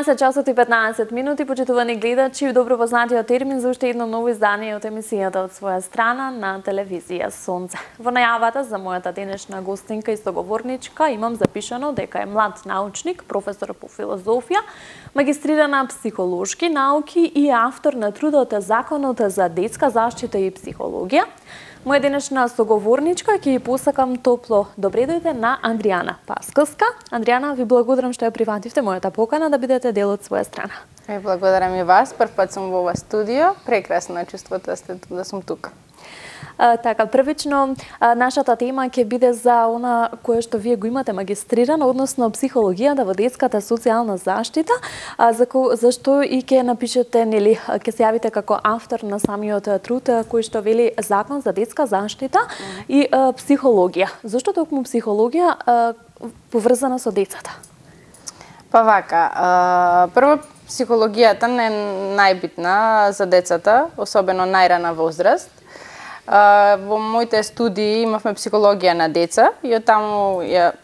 12 часот и 15 минути, почитувани гледачи, добро познатиот термин за уште едно ново издание од емисијата од своја страна на телевизија Сонце. Во најавата за мојата денешна гостинка и соговорничка имам запишано дека е млад научник, професор по филозофија, магистрирана психолошки науки и автор на трудот Законот за детска заштита и психологија. Моја денешна соговорничка ќе ја посакам топло добре дојде на Андријана Пасковска. Андријана, ви благодарам што ја прифативте мојата покана да бидете дел од своја страна. Ви благодарам и вас, прв пат сум во ова студио, прекрасно е чувството да сум тука. Така, првично, нашата тема ќе биде за она кое што вие го имате магистрирано, односно психологијата во детската социјална заштита, зашто и ќе напишете, нели, ќе се јавите како автор на самиот труд кој што вели Закон за детска заштита и психологија. Зошто токму психологија поврзана со децата? Па вака, прво психологијата не е најбитна за децата, особено најрана возраст. Во моите студии имавме психологија на деца и од таму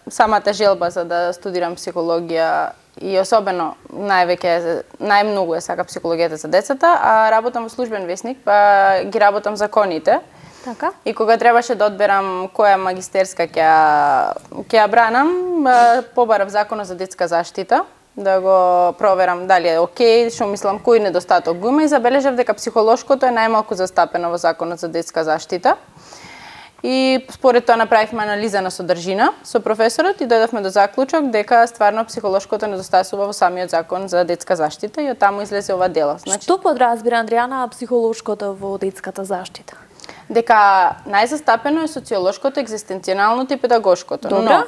самата желба за да студирам психологија и особено најмногу е сака психологијата за децата, а работам во службен весник, па ги работам законите. Така. И кога требаше да одберам која магистерска ќе ја бранам, побарав Законот за детска заштита, да го проверам дали е окей, што мислам кој недостаток го има и забележав дека психолошкото е најмалку застапено во Законот за детска заштита. И според тоа направивме анализа на содржина со професорот и дојдовме до заклучок дека стварно психолошкото недостасува во самиот Закон за детска заштита и од таму излезе ова дело. Значи, што подразбира Андријана психолошкото во детската заштита? Дека најзастапено е социолошкото, екзистенционалното и педагошкото. Добра. Но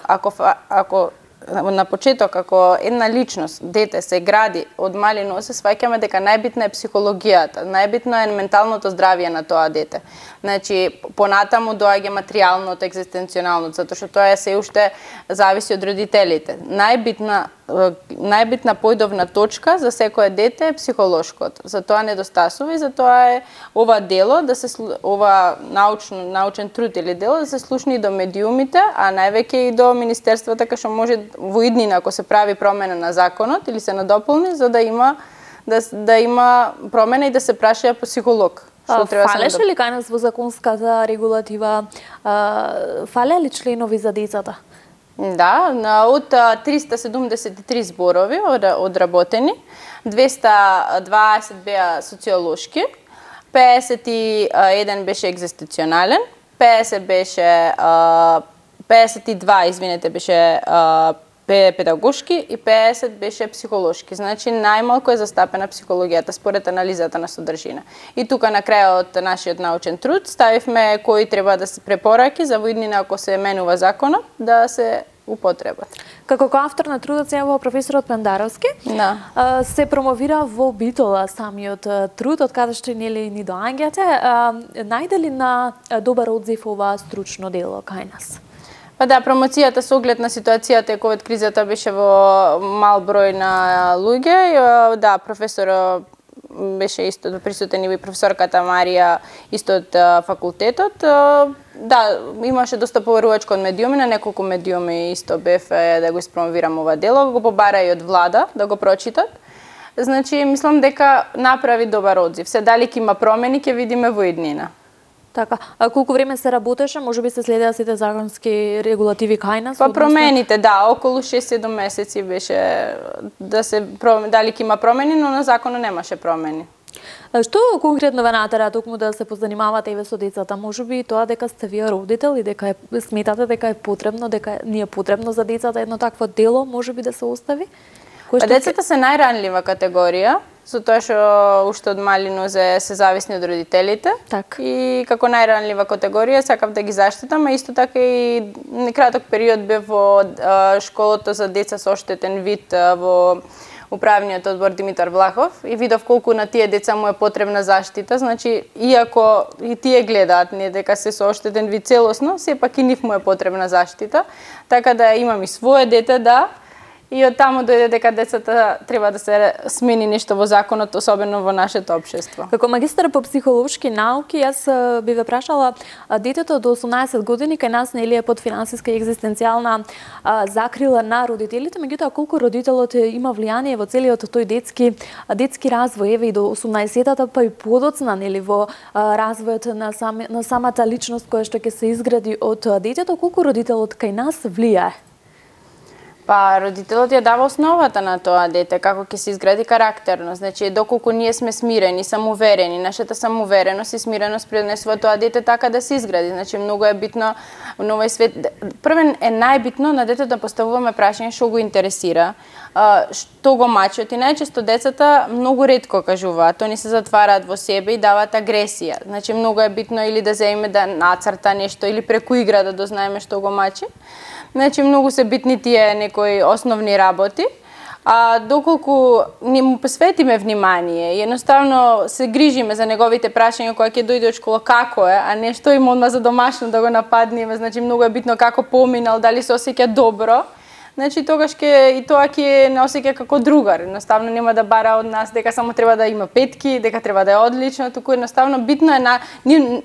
ако на почеток, ако една личност, дете, се гради од мали носе, сваќаме дека најбитна е психологијата, најбитно е менталното здравје на тоа дете. Значи, понатаму доаѓа материјалното, екзистенционалното, затоа што тоа се уште зависи од родителите. Најбитна појдовна точка за секое дете е психолошкото. Затоа недостасува и затоа е ова дело, ова научен труд или дело да се слушни и до медиумите, а највеќе и до министерствата, кај што може во иднина ако се прави промена на законот или се надополни, за да има промена и да се праша психолог. Фалеше ли кај нас во законската регулатива, фале ли членови за децата? Да, од 373 зборови одработени, 220 беа социолошки, 51 беше екзистенционален, 52 беше педагошки и 50 беше психолошки. Значи најмалку е застапена психологијата според анализата на содржина. И тука на крајот нашиот научен труд ставивме кои треба да се препораки за воиднина ако се менува законот да се употребат. Како автор на трудот се јавува професорот Пендаровски, се промовира во Битола самиот труд, од каде што нели ни доаѓате. Најде ли на добар одзив ова стручно дело кај нас? Па да, промоцијата со оглед на ситуацијата и ковид кризата беше во мал број на луѓе. Да, професор беше исто присутен и професорката Марија исто од факултетот. Да, имаше доста поверувачко од медиуми, на неколку медиуми исто бев да го испромовирам ова дело, го побара и од влада да го прочитат. Значи, мислам дека направи добар одзив. Се дали ќе има промени, ќе видиме во иднина. Така, а колку време се работеше, можеби се следеа сите законски регулативи кај нас? Па промените, да, околу 6-7 месеци беше да се дали ќе има промени, но на законот немаше промени. Што конкретно ве натера токму да се позанимавате и со децата? Можеби тоа дека сте вие родител и дека сметате дека е потребно, дека ни е потребно за децата едно такво дело, можеби да се остави? Децата се најранлива категорија, затоа што уште од мали нозе се зависни од родителите. Так. И како најранлива категорија сакав да ги заштитам, а исто така и краток период бев во школото за деца со оштетен вид во управниот одбор Димитар Влахов и видов колку на тие деца му е потребна заштита. Значи, иако и тие гледаат не дека се со оштетен вид целосно, сепак и нив му е потребна заштита. Така да имам и свое дете, да, и од таму дојде дека децата треба да се смени нешто во законот, особено во нашето општество. Како магистар по психолошки науки, јас би ве прашала, детето до 18 години кај нас нели е под финансиска и екзистенцијална закрила на родителите, меѓутоа колку родителот има влијание во целиот тој детски развој, еве и до 18-тата, па и подоцна нели во развојот на самата личност која што ќе се изгради од детето, колку родителот кај нас влијае? Па, родителот ја дава основата на тоа дете, како ќе се изгради карактерно. Значи, доколку ние сме смирени, самоуверени, нашата самоувереност и смиреност пренесува тоа дете така да се изгради. Значи, многу е битно во овој свет. Првен е најбитно на детето да поставуваме прашање што го интересира, што го мачат, и најчесто децата многу ретко кажуваат, они се затвараат во себе и даваат агресија. Значи, многу е битно или да земе да нацрта нешто, или преку игра да дознаеме што го мачи. Значи, многу се битни тие некои основни работи, а доколку ни му посветиме внимание, едноставно се грижиме за неговите прашања кога ќе дојде од школа како е, а не што има одма за домашно да го нападнеме, значи многу е битно како поминал, дали се осеќа добро. Значи, тогаш и тоа ќе не осеќа како другар. Едноставно нема да бара од нас дека само треба да има петки, дека треба да е одлично, туку едноставно битно е на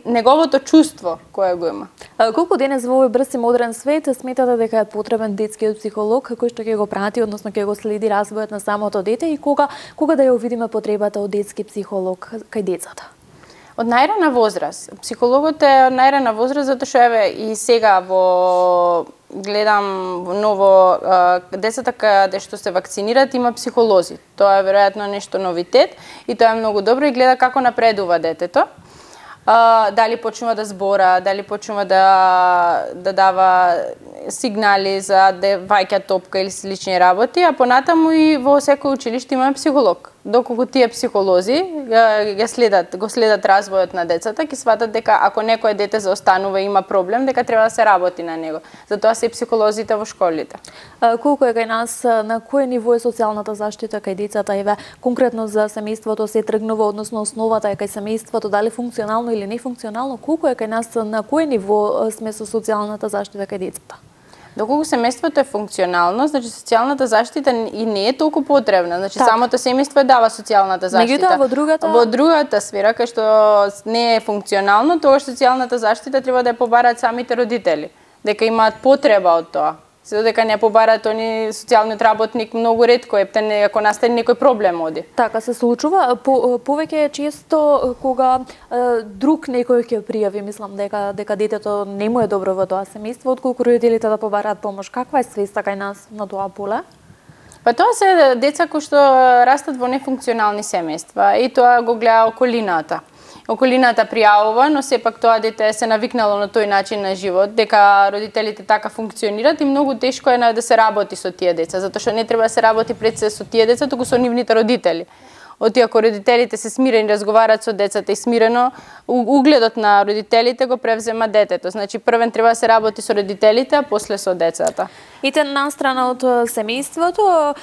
неговото чувство кое го има. Колку денес во овој брз и модерен свет сметате дека е потребен детскиот психолог кој што ќе го прати, односно ќе го следи развојот на самото дете, и кога да ја увидиме потребата од детски психолог кај децата? Од најрана возраст. Психологот е од најрана возраст, затоа што еве и сега гледам ново децата каде што се вакцинираат има психолози. Тоа е веројатно нешто новитет и тоа е многу добро и гледа како напредува детето. Дали почнува да збора, дали почнува да дава сигнали за да ваќа топка или слични работи, а понатаму и во секој училиште има психолог. Доколку тие психолози го следат развојот на децата, ќе сватат дека ако некое дете заостанува и има проблем, дека треба да се работи на него. Затоа се и психолозите во школите. Колку е кај нас, на кое ниво е социјалната заштита кај децата? Еве, конкретно за семејството се тргнува, односно основата е кај семејството, дали функционално или нефункционално, колку е кај нас, на кое ниво сме со социјалната заштита кај децата? Доколку семејството е функционално, значи социјалната заштита и не е толку потребна. Значи самото семејство дава социјалната заштита. Меѓутоа во другата сфера кај што не е функционално, тогаш социјалната заштита треба да ја побараат самите родители, дека имаат потреба од тоа. Се додека не побараат они социјалниот работник многу ретко ако настане некој проблем оди. Така се случува, повеќе често кога друг некој ќе пријави, мислам дека детето не му е добро во тоа семејство, отколку родителите да побараат помош. Каква е свеста кај нас на тоа поле? Па тоа се деца кои што растат во нефункционални семејства и тоа го гледа околината. Околината пријавува, но сепак тоа дете се навикнало на тој начин на живот, дека родителите така функционираат и многу тешко е да се работи со тие деца, затоа што не треба да се работи пред се со тие деца, туку со нивните родители. Ако родителите се смирени, разговараат со децата и смирено, угледот на родителите го превзема детето. Значи, првен треба да се работи со родителите, а после со децата. И настрана од семејството,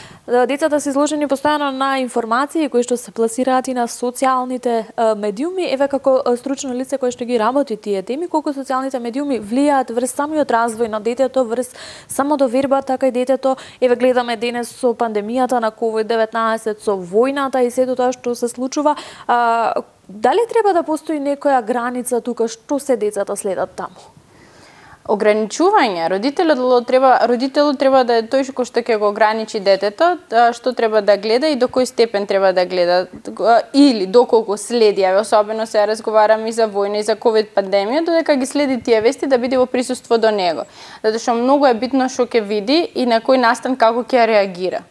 децата се изложени постојано на информации кои што се пласираат и на социјалните медиуми. Еве, како стручно лице кое што ги работи тие теми, колку социјалните медиуми влијаат врз самиот развој на детето, врз само довербата кај детето. Еве, гледаме денес со пандемијата на COVID-19, со војната и сето тоа што се случува. Дали треба да постои некоја граница тука, што се децата следат таму? Ограничување. Родителот треба да е тој кој што ќе го ограничи детето, што треба да гледа и до кој степен треба да гледа, или доколку следи, особено се разговараме и за војна и за ковид пандемија, додека ги следи тие вести да биде во присуство до него. Затоа што многу е битно што ќе види и на кој настан како ќе реагира.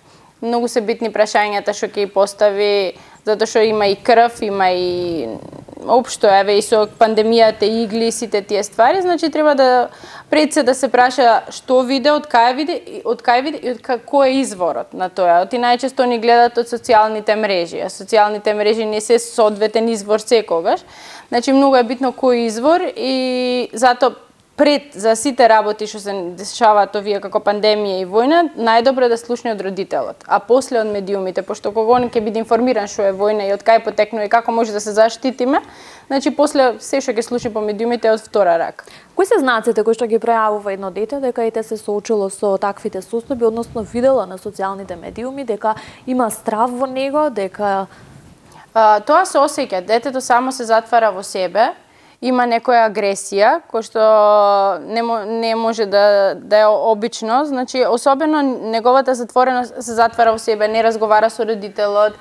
Многу се битни прашањата што ќе постави, затоа што има и крв, има и општо, еве и со пандемијата, игли, сите тие ствари, значи треба да пред се да се праша што виде, од кај виде и кој е изворот на тоа. И најчесто ни гледат од социјалните мрежи, а социјалните мрежи не се соодветен извор секогаш. Значи многу е битно кој извор и затоа пред за сите работи што се дешаваат овие како пандемија и војна, најдобро е да слушне од родителот, а после од медиумите, пошто кога он ќе биде информиран што е војна и од кај потекнува и како може да се заштитиме, значи после се што ќе слушне по медиумите е од втора рака. Кои се знаците кои што ги пројавува едно дете дека ете се соочило со таквите состојби, односно видела на социјалните медиуми дека има страв во него, дека тоа се осеќа, детето само се затвара во себе, има некоја агресија која што не може да е обично, значи особено неговата затвореност се затвара во себе, не разговара со родителот,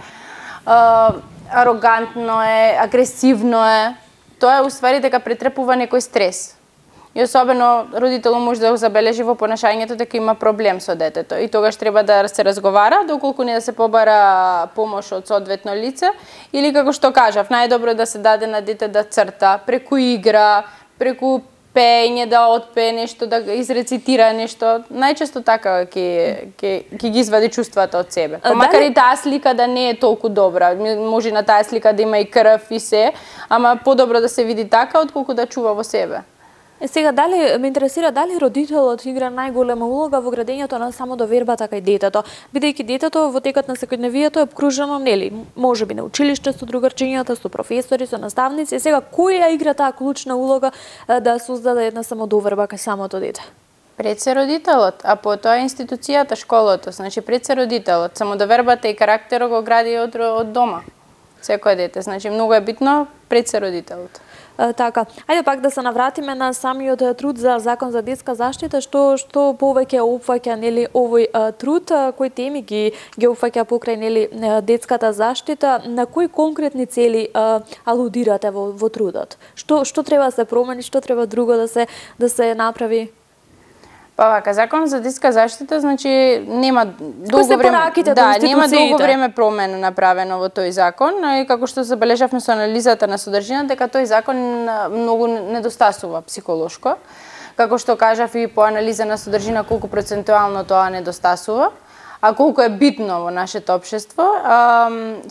арогантно е, агресивно е. Тоа е уствари дека претрпува некој стрес. И особено родителот може да го забележи во понашањето дека има проблем со детето и тогаш треба да се разговара, доколку не да се побара помош од соодветно лице или како што кажав, најдобро е да се даде на дете да црта, преку игра, преку пеење да отпее нешто, да изрецитира нешто. Најчесто така ќе ги извади чувствата од себе. Макар и таа слика да не е толку добра, може на таа слика да има и крв и се, ама подобро да се види така отколку да чува во себе. Сега, дали ме интересира дали родителот игра најголема улога во градењето на само довербата кај детето, бидејќи детето во текот на секојдневието е обкружено, нели, можеби на училиште со другарчињата, со професори, со наставници. Сега, кој ја игра таа клучна улога да создаде една самодоверба кај самото дете? Пред се родителот, а потоа институцијата, школото, значи пред се родителот. Самодовербата и карактерот го гради од дома. Секој дете, значи многу е битно пред се родителот. Така, ајде пак да се навратиме на самиот труд за закон за детска заштита, што повеќе опфаќа нели овој труд, кои теми ги опфаќа покрај нели детската заштита, на кои конкретни цели алудирате во трудот? Што треба да се промени, што треба друго да се направи? Па вака, закон за детска заштита, значи нема долго време, нема долго време промена направено во тој закон, и како што забележавме со анализата на содржина, дека тој закон многу недостасува психолошко. Како што кажав и по анализа на содржина колку процентуално тоа недостасува, а колку е битно во нашето општество.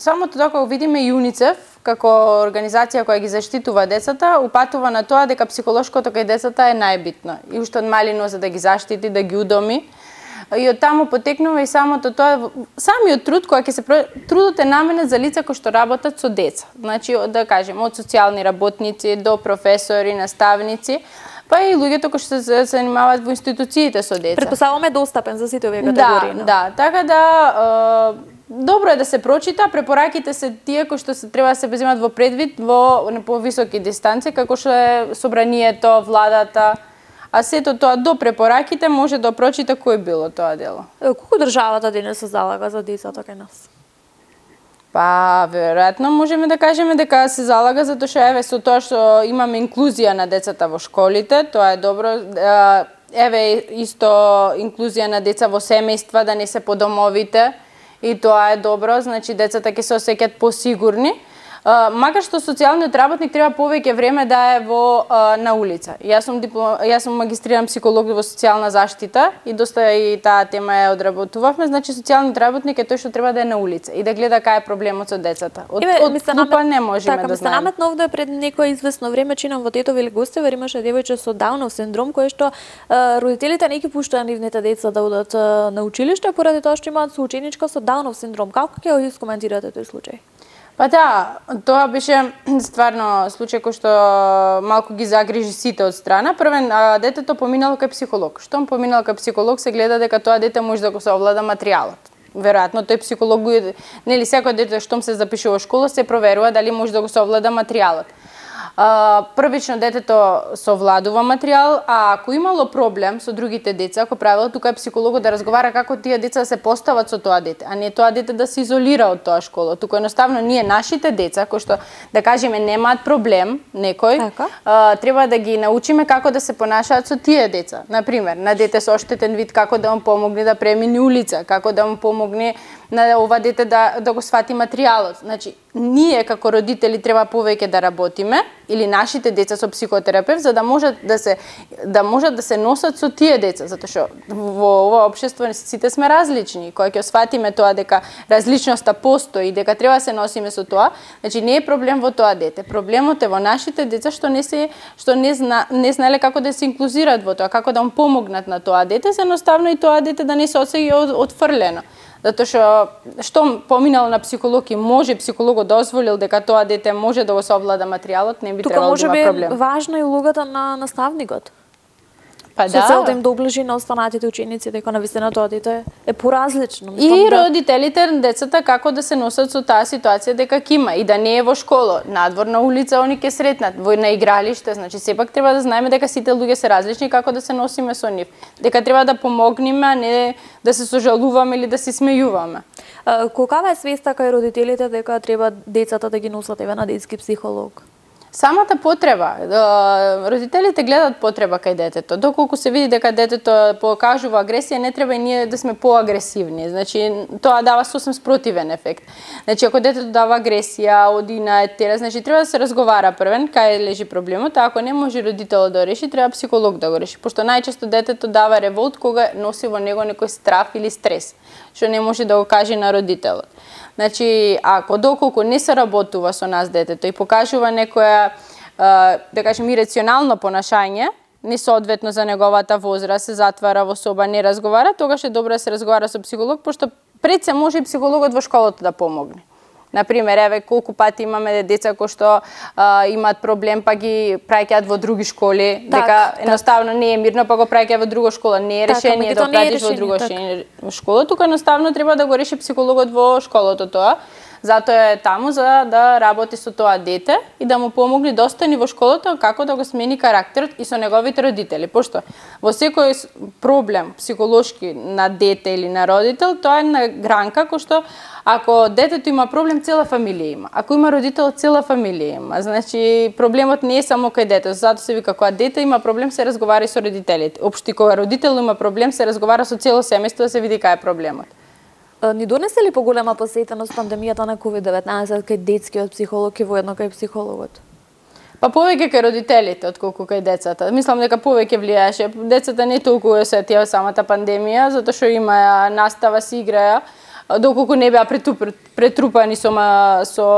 Самото тоа кога видиме ЮНИЦЕФ како организација која ги заштитува децата, упатува на тоа дека психолошкото кај децата е најбитно. И уште од мали нозе да ги заштити, да ги удоми. И од таму потекнува и самото тоа, самиот труд кој ќе се трудот е наменет за лица кои што работат со деца. Значи, да кажем, од социјални работници до професори, наставници, па и луѓето кои што се занимаваат во институциите со деца. Предпоставуваме достапен за сите овие категории. Да, така да добро е да се прочита, препораките се тие кои што се треба да се земат во предвид во повисоки дистанци, како што е собранието, владата, а сето тоа до препораките може да прочита кој било тоа дело. Колку државата денес се залага за децата кај нас? Па, веројатно можеме да кажеме дека се залага затоа што еве со тоа што имаме инклузија на децата во школите, тоа е добро. Еве исто инклузија на деца во семејства, да не се по домовите, и тоа е добро, значи децата ќе се осеќаат посигурни. Макар што социјалниот работник треба повеќе време да е на улица. Јас сум магистриран психолог во социјална заштита и доста и таа тема ја одработувавме, значи социјалниот работник е тој што треба да е на улица и да гледа кај е проблемот со децата. Од клупа не можеме да знаеме. Така, наметна овде пред некој известно време чинам во Тетово или Гостево, имаше девојче со Даунов синдром кој што родителите не ги пуштаа нивните деца да одат на училиште поради тоа што имаат соученичка со Даунов синдром. Како ќе го искоментирате тој случај? Па да, тоа беше стварно случај кој што малку ги загрижи сите од страна. Првен, детето поминало кај психолог. Штом поминало кај психолог, се гледа дека тоа дете може да го совлада материјалот. Веројатно тој психолог нели секој дете штом се запишува во школа се проверува дали може да го совлада материјалот. Првично детето совладува материјал, а ако имало проблем со другите деца, ако правило тука е психологот да разговара како тие деца се постават со тоа дете, а не тоа дете да се изолира од тоа школа. Тука едноставно ние нашите деца кои што да кажеме немаат проблем некој, треба да ги научиме како да се понашаат со тие деца. На пример, на дете со оштетен вид како да му помогне да премине улица, како да му помогне на ова дете да го свати материјалот. Значи, ние како родители треба повеќе да работиме или нашите деца со психотерапевт за да можат да се носат со тие деца, затоа што во ова општество сите сме различни. Кога ќе сватиме тоа дека различноста постои, дека треба да се носиме со тоа, значи не е проблем во тоа дете. Проблемот е во нашите деца што не знаеле како да се инклузираат во тоа, како да му помогнат на тоа дете, се едноставно и тоа дете да не се осеќа отфрлено. Затоа што поминало на психолог и може психологот дозволил дека тоа дете може да го совлада материјалот, не би требало да има проблем. Тука може би важна и улогата на наставникот. Па Со цел да им доближи на останатите ученици дека навистина тоа дете е поразлично. И родителите на децата како да се носат со таа ситуација дека ќе има и да не е во школа, надвор на улица они ќе сретнат, во на игралиште, значи сепак треба да знаеме дека сите луѓе се различни како да се носиме со нив. Дека треба да помогнеме, а не да се сожалуваме или да се смејуваме. Колкава е свеста кај родителите дека треба децата да ги носат на детски психолог? Самата потреба, родителите гледат потреба кај детето. Доколку се види дека детето покажува агресија, не треба и ние да сме поагресивни. Значи, тоа дава сосем спротивен ефект. Значи, ако детето дава агресија, оди на етера, значи треба да се разговара првен кај лежи проблемот, а ако не може родителот да реши, треба психолог да го реши. Пошто најчесто детето дава револт кога носи во него некој страф или стрес, што не може да го каже на родителот. Значи, ако доколку не се работува со нас детето и покажува некоја, да кажем, ирационално понашање, несоодветно за неговата возраст, се затвара во соба, не разговара, тогаш е добро да се разговара со психолог, пошто пред се може и психологот во школата да помогне. Например, еве колку пати имаме деца кои што имаат проблем па ги праќаат во други школи, дека едноставно не е мирно па го праќаат во друга школа, не е решение да пратиш во друга школа, тука едноставно треба да го реши психологот во школото тоа. Затоа е таму за да работи со тоа дете и да му помогне да остане во школата како да го смени карактерот и со неговите родители. Пошто во секој проблем психолошки на дете или на родител, тоа е на гранка кој што ако детето има проблем, цела фамилија има. Ако има родител, цела фамилија има. Значи проблемот не е само кај детето, затоа се вика кога дете има проблем се разговара и со родителите. Општи кога родител има проблем се разговара со цело семејство да се види кај е проблемот. Ни донесе ли поголема посетеност пандемијата на COVID-19 кај детскиот психолог и воедно кај психологот? Па повеќе кај родителите отколку кај децата. Мислам дека повеќе влијаеше. Децата не толку осетија самата пандемија, затоа што има настава, си играја, доколку не беа претрупани со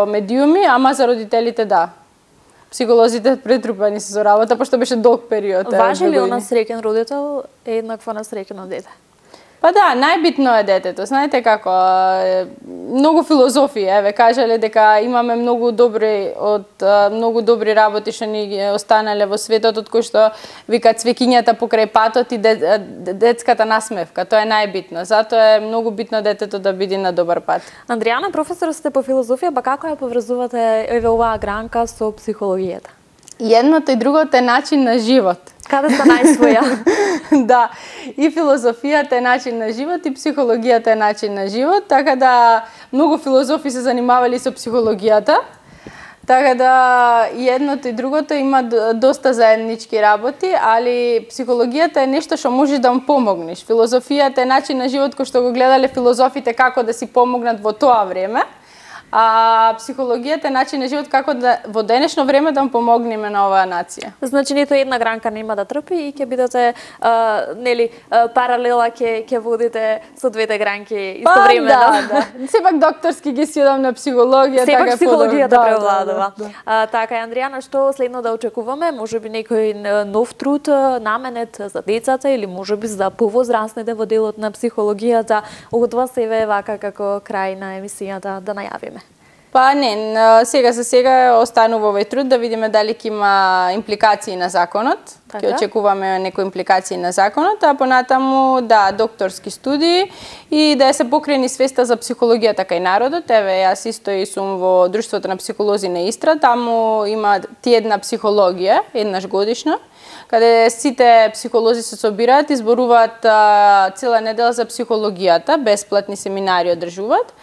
медиуми, ама за родителите да. Психолозите претрупани се со работа, пошто беше долг период. Важи ли насреќен родител еднакво насреќено дете? Па да, најбитно е детето. Знаете како, многу филозофија, еве, кажале дека имаме многу добри работи што ни останале во светот, од кои што викаат цвеќињата покрај патот и детската насмевка. Тоа е најбитно. Затоа е многу битно детето да биде на добар пат. Андријана, професор сте по филозофија, па како ја поврзувате еве оваа гранка со психологијата? Едното и другото е начин на живот. Каде сте најсвоја? Да, и филозофијата е начин на живот и психологијата е начин на живот, така да многу филозофи се занимавали со психологијата. Така да и едното и другото има доста заеднички работи, али психологијата е нешто што можеш да му помогнеш. Филозофијата е начин на живот кој што го гледале филозофите како да си помогнат во тоа време. А психологијата е начин на живот како да во денешно време да му помогнеме на оваа нација. Значи ниту една гранка нема да трпи и ќе бидете паралела ќе водите со двете гранки истовремено. Да. Сепак докторски ги сједам на психологија, сепак така психологијата превладува. Така е, Андријана, што следно да очекуваме? Можеби некој нов труд наменет за децата или можеби за повозрастните во делот на психологијата? Од вас еве вака како крај на емисијата да најавиме. Па не, сега за сега останува овој труд да видиме дали ќе има импликации на законот. Ќе очекуваме некои импликации на законот, а понатаму да докторски студии и да се покрени свеста за психологијата кај народот. Еве јас исто и сум во Друштвото на психолози на Истра, таму има тjedна психологија еднаш годишно, каде сите психолози се собираат и зборуваат цела недела за психологијата, бесплатни семинари одржуваат.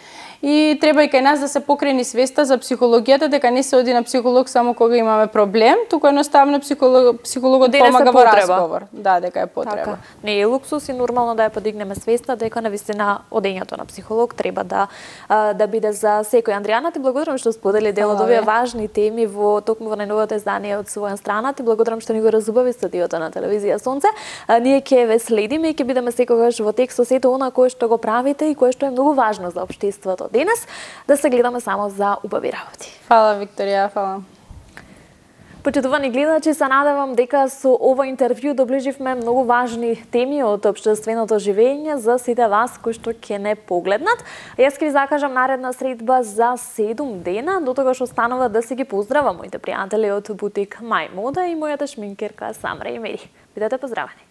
и треба и кај нас да се покрени свеста за психологијата, дека не се оди на психолог само кога имаме проблем, туку едноставно психологот помага во разговор. Да, дека е потреба. Така. Не е луксус и нормално да ја подигнеме свеста дека навистина одењето на психолог треба да биде за секој. Андријана, ти благодарам што сподели дел од овие важни теми во токму во најновото издание од своја страна. Ти благодарам што ни го разубави студиото на телевизија Сонце. Ние ќе ве следиме и ќе бидеме секогаш во текст со сето она кое што го правите и кое што е многу важно за општеството денес, да се гледаме само за убави работи. Фала, Викторија, фала. Почитувани гледачи, се надевам дека со ова интервју доближивме многу важни теми од општественото живење за сите вас кои што ќе не погледнат. Јас ќе ви закажам наредна средба за 7 дена, до тогаш останува да си ги поздравам моите пријатели од бутик Мај Мода и мојата шминкерка Самра Емери. Бидете поздравени.